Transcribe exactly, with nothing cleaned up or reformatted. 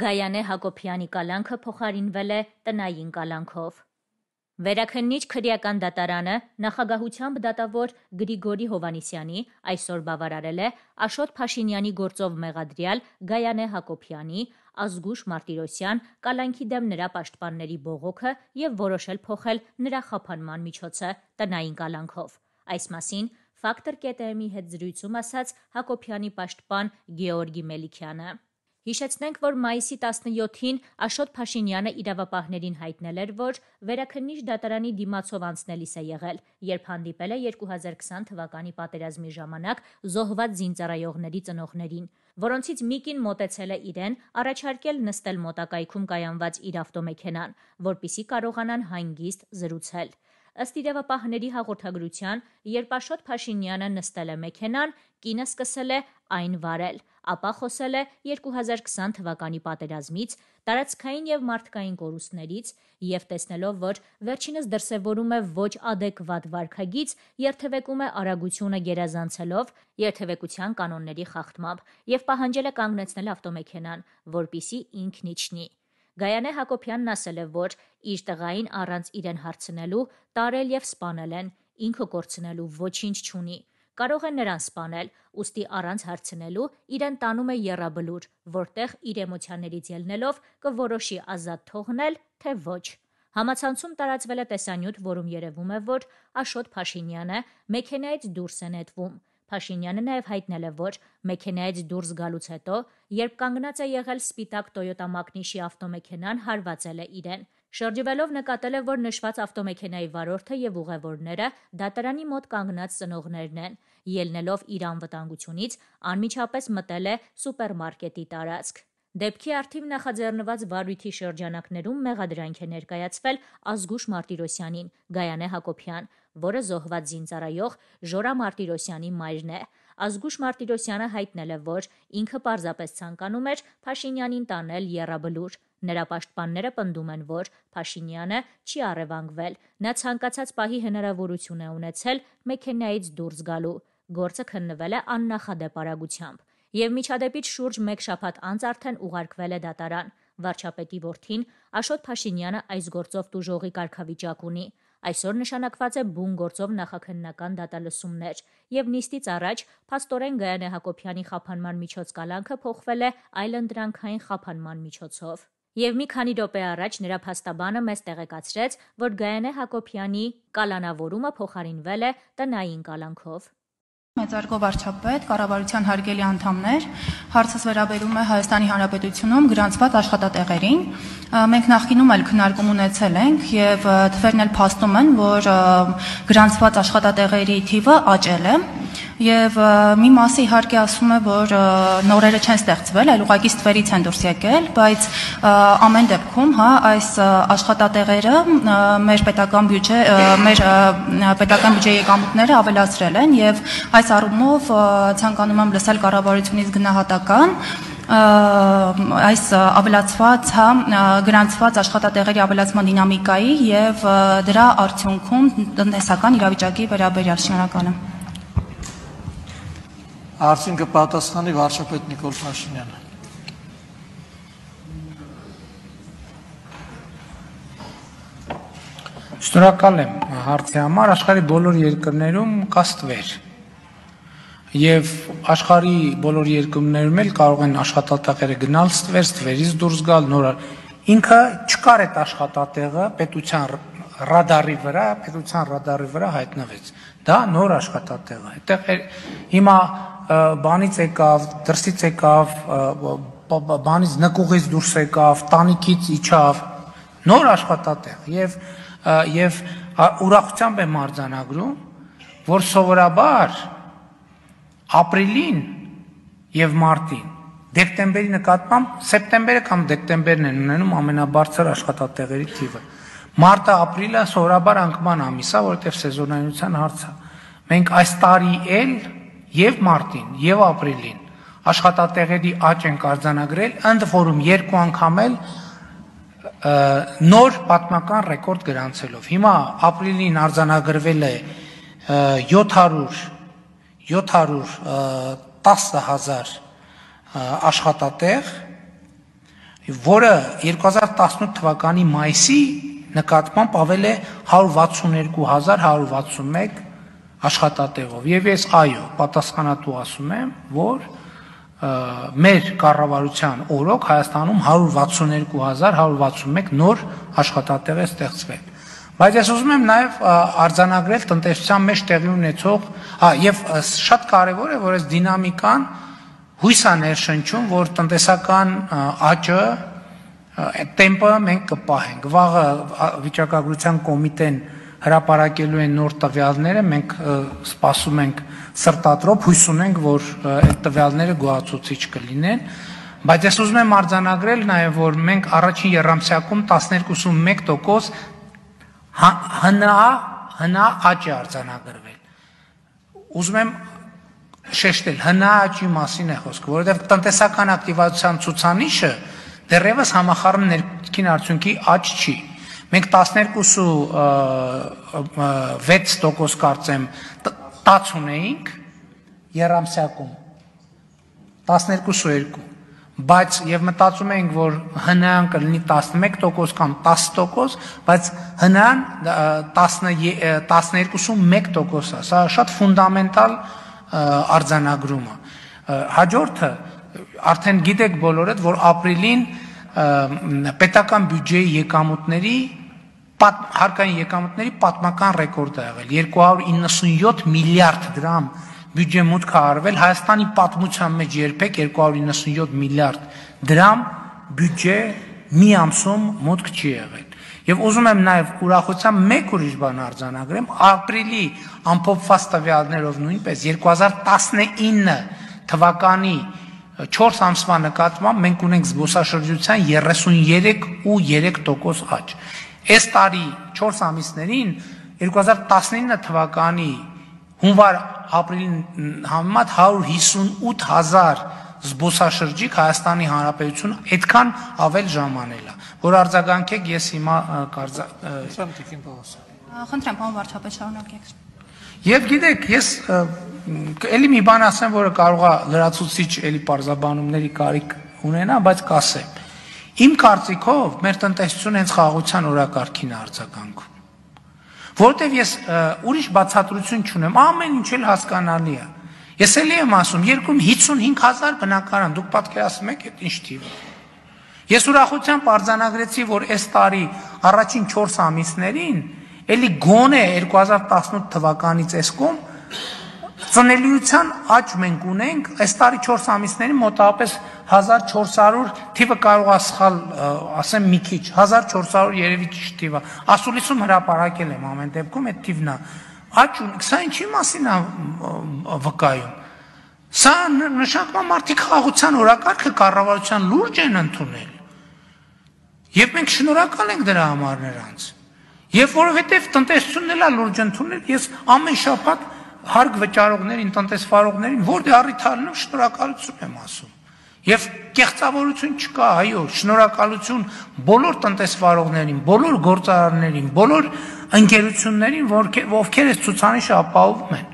Գայանե Հակոբյանի կալանքը փոխարինվել է տնային կալանքով։ Վերաքննիչ քրեական դատարանը նախագահությամբ դատավոր Գրիգորի Հովհաննիսյանի այսօր բավարարել է Աշոտ Փաշինյանի գործով մեղադրյալ Գայանե Հակոբյանի, Ազգուշ Մարտիրոսյան կալանքի դեմ նրա պաշտպանների բողոքը և որոշել փոխել նրա խափանման միջոցը տնային կալանքով։ Այս մասին Ֆակտոր կետ-ի հետ զրույցում ասաց Հակոբյանի պաշտպան Գեորգի Մելիքյանը։ Հիշեցնենք, որ մայիսի տասնյոթին Աշոտ Փաշինյանը իրավապահներին հայտնել էր, որ վերաքննիչ դատարանի դիմացով անցնելիս է եղել, երբ հանդիպել է երկու հազար քսան թվականի պատերազմի ժամանակ զոհված զինծառայողների ծնողներին, որոնցից մեկին մոտեցել է իրեն առաջարկել նստել մոտակայքում կայանված իր ավտոմեքենան, որպեսզի կարողանան հանգիստ զրուցել։ Ըստ իրավապահների հաղորդագրության, երբ Աշոտ Փաշինյանը նստել է մեքենան, կինը սկսել է այն վարել, ապա խոսել է երկու հազար քսան թվականի պատերազմից, տարածքային և մարդկային կորուստներից և տեսնելով, որ վերջինս դրսևորում է ոչ ադեկվատ վարքագիծ, երթևեկում է արագությունը գերազանցելով երթևեկության կանոնների խախտմամբ և պահանջել է կանգնեցնել ավտոմեքենան, որպեսզի ինքն իջնի։ Գայանե Հակոբյանն ասել է, որ իր տղային առանց իրեն հարցնելու տարել և սպանել են, ինքը կորցնելու ոչինչ չունի։ Կարող է նրան սպանել, ուստի առանց հարցնելու իրեն տանում է եռաբլուր, որտեղ իր էմոցիաներից ելնելով կորոշի ազատ թողնել, թե ոչ։ Համացանցում տարածվել է տեսանյութ, որում երևում է, որ Աշոտ Փաշինյանը մեքենայից դուրս է նետվում։ Փաշինյանը նաև հայտնել է, որ մեքենայից դուրս գալուց հետո, երբ կանգնած է եղել սպիտակ Տոյոտա Մակնիշի ավտոմեքենան հարվածել է իրեն։ Շրջվելով նկատել է, որ նշված ավտոմեքենայի վարորդը և ուղևորները դատարանի մոտ կանգնած ծնողներն են։ Ելնելով իր անվտանգությունից, անմիջապես մտել է սուպերմարկետի տարածք։ Դեպքի առթիվ նախաձեռնված վարույթի շրջանակներում մեղադրանք է ներկայացվել Ազգուշ Մարտիրոսյանին, Գայանե Հակոբյան, որը զոհված զինծառայող Ժորա Մարտիրոսյանի մայրն է։ Ազգուշ Մարտիրոսյանը հայտնել է, որ ինքը պարզապես ցանկանում էր Փաշինյանին տանել եռաբլուր։ Նրա պաշտպանները պնդում են, որ Փաշինյանը չի առևանգվել, նա ցանկացած պահի հնարավորություն է ունեցել մեքենայից դուրս գալու։ Գործը քննվել է աննախադեպ արագությամբ։ Եվ միջադեպից շուրջ մեկ շաբաթ անց արդեն ուղարկվել է դատարան։ Վարչապետի որդին Աշոտ Փաշինյանը այս գործով տուժողի կարգավիճակ ունի։ Այսօր նշանակված է բուն գործով նախաքննական դատալսումներ, և նիստից առաջ փաստորեն Գայանե Հակոբյանի խափանման միջոց կալանքը փոխվել է այլընտրանքային խափանման միջոցով։ Եվ մի քանի րոպե առաջ նրա փաստաբանը մեզ տեղեկացրեց, որ Գայանե Հակոբյանի կալանավորումը փոխարինվել է տնային կալանքով։ Մեծարգո վարչապետ, կառավարության հարգելի անդամներ, հարցս վերաբերում է Հայաստանի Հանրապետությունում գրանցված աշխատատեղերին։ Մենք նախկինում էլ քննարկում ունեցել ենք և թվերն էլ փաստում են, որ գրանցված աշխատատեղերի թիվը աճել է և մի մասը իհարկե ասում է, որ նորերը չեն ստեղծվել, այլ ուղղակի ստվերից են դուրս եկել, բայց ամեն դեպքում այս աշխատատեղերը մեր պետական բյուջե, մեր պետական բյուջեի եկամուտները ավելացրել են և այս առումով ցանկանում եմ լսել կառավարությունից գնահատական այս ավելացված, գրանցված աշխատատեղերի ավելացման դինամիկայի և դրա արդյունքում տնտեսական իրավիճակի վերաբերյալ։ Շնորհակալ եմ։ Հարցին կպատասխանի վարչապետ Նիկոլ Փաշինյանը։ Շնորհակալ եմ հարցի համար։ Աշխարհի բոլոր երկրներում կա ստվեր և աշխարհի բոլոր երկրներում էլ կարող են աշխատատեղերը գնալ ստվեր, ստվերից դուրս գալ նոր։ Ինքը չկար այդ աշխատատեղը պետության ռադարի վրա, պետության ռադարի վրա հայտնվեց։ Դա նոր աշխատատեղ է։ Այդտեղ հիմա բանից եկավ, դրսից եկավ, բանից նկուղից դուրս եկավ, տանիքից իջավ, նոր աշխատատեղ և և ուրախությամբ եմ արձանագրում, որ սովորաբար ապրիլին և մարտին, դեկտեմբերի նկատմամբ, սեպտեմբերը կամ դեկտեմբերն են ունենում ամենաբարձր աշխատատեղերի թիվը։ Մարտը, ապրիլը սովորաբար անկման ամիս է, որովհետև սեզոնայնության հարց է։ Մենք այս տարի էլ և մարտին, և ապրիլին աշխատատեղերի աճ ենք արձանագրել, ընդ որում երկու անգամ էլ նոր պատմական ռեկորդ գրանցելով։ Հիմա ապրիլին արձանագրվել է յոթ հարյուր տասը հազար աշխատատեղ, որը երկու հազար տասնութ թվականի մայիսի նկատմամբ ավել է հարյուր վաթսունհինգ հազար հարյուր վաթսունմեկ աշխատատեղով եւ ես այո պատասխանատու ասում եմ, որ մեր կառավարության օրոք Հայաստանում հարյուր վաթսունհինգ հազար հարյուր վաթսունմեկ նոր աշխատատեղ է ստեղծվել։ Բայց ես ուզում եմ նաև արձանագրել տնտեսության մեջ տեղի ունեցող, եւ շատ կարևոր է, որ այս դինամիկան հույս է ներշնչում, որ տնտեսական աճը տեմպը մենք կպահենք։ Վաղը վիճակագրության կոմիտեն հրապարակելու են նոր տվյալները, մենք սպասում ենք սրտատրոփ, հույս ունենք, որ այդ տվյալները գոհացուցիչ կլինեն, բայց ես ուզում եմ արձանագրել նաև, որ մենք առաջին եռամսյակում տասներկու մեկ տոկոս հնա հնա աճ է արձանագրվել։ Ուզում եմ շեշտել, հնա աճի մասին է խոսքը, որովհետև տնտեսական ակտիվացիան ցուցանիշը դեռևս համախառն ներքին արդյունքի աճ չի։ Մենք տասներկու վեց տոկոս կարծեմ տաց ունեինք եռամսյակում, տասներկու երկու, բայց եւ մտածում ենք, որ հնան կլինի տասնմեկ տոկոս կամ տասը տոկոս, բայց հնան տասներկու մեկ տոկոս է, սա շատ ֆունդամենտալ արձանագրում է։ Հաջորդը արդեն գիտեք բոլորդ, որ ապրիլին պետական բյուջեի եկամուտների հարկային եկամուտների պատմական ռեկորդ է եղել, երկու հարյուր իննսունյոթ միլիարդ դրամ բյուջե մուտք է արվել, Հայաստանի պատմության մեջ երբեք երկու հարյուր իննսունյոթ միլիարդ դրամ բյուջե մի ամսում մուտք չի եղել։ Եվ ուզում եմ նաև ուրախությամբ մեկ ուրիշ բան արձանագրեմ, ապրիլի ամփոփված տվյալներով նույնպես երկու հազար տասնինը թվականի չորս ամսվա նկատմամբ մենք ունենք զբոսաշրջության երեսուններեք ու երեք տոկոս աճ։ Այս տարի չորս ամիսներին երկու հազար տասնինը թվականի հունվար ապրիլին համեմատ հարյուր հիսունութ հազար զբոսաշրջիկ Հայաստանի Հանրապետությունը այդքան ավել ժամանել է, որ արձագանքեք, ես հիմա Խնդրեմ, պարոն վարչապետ, շարունակեք։ Եվ գիտեք, ես էլի մի բան ասեմ, որը կարող է լրացուցիչ էլի պարզաբանումների կարիք ունենա, բայց կասեմ։ Իմ կարծիքով մեր տնտեսությունը հենց խաղաղության օրակարգին է արձագանքում։ Որտեվ ես ուրիշ բացատրություն չունեմ, ամեն ինչ էլ հասկանալի է։ Ես էլի եմ ասում, երկրում հիսունհինգ հազար բնակարան, դուք պատկերացնում եք այդ ինչ թիվ է։ Ես ուրախությամբ արձանագրեցի, որ այս տարի առաջին չորս ամիսներին էլի գոնե երկու հազար տասնութ թվականից էսկում ծնելիության աճ մենք ունենք, այս տարի չորս ամիսներին մոտավորապես հազար չորս հարյուր թիվը կարող է սխալ ասեմ մի քիչ, հազար չորս հարյուր երևի ճիշտ թիվ է։ Ասուլիսում հրապարակել եմ ամեն դեպքում այդ թիվն է։ Աճ ունենք, սա ինչի մասին է վկայում։ Սա նշանակում է մարդիկ խաղաղության օրակարգը կառավարության լուրջ են ընդունել։ Եվ մենք շնորհակալ ենք դրա համար նրանց։ Եվ որովհետև տնտեսությունն էլ է լուրջ ընդունել, ես ամեն շաբաթ հարկ վճարողներին, տնտեսվարողներին, որտեղ առիթարնում շնորհակալություն եմ ասում։ Եվ կեղծավորություն չկա, այո, շնորհակալություն բոլոր տնտեսվարողներին, բոլոր գործարարներին, բոլոր ընկերություններին, ովքեր այս ցուցանիշը ապահովում են։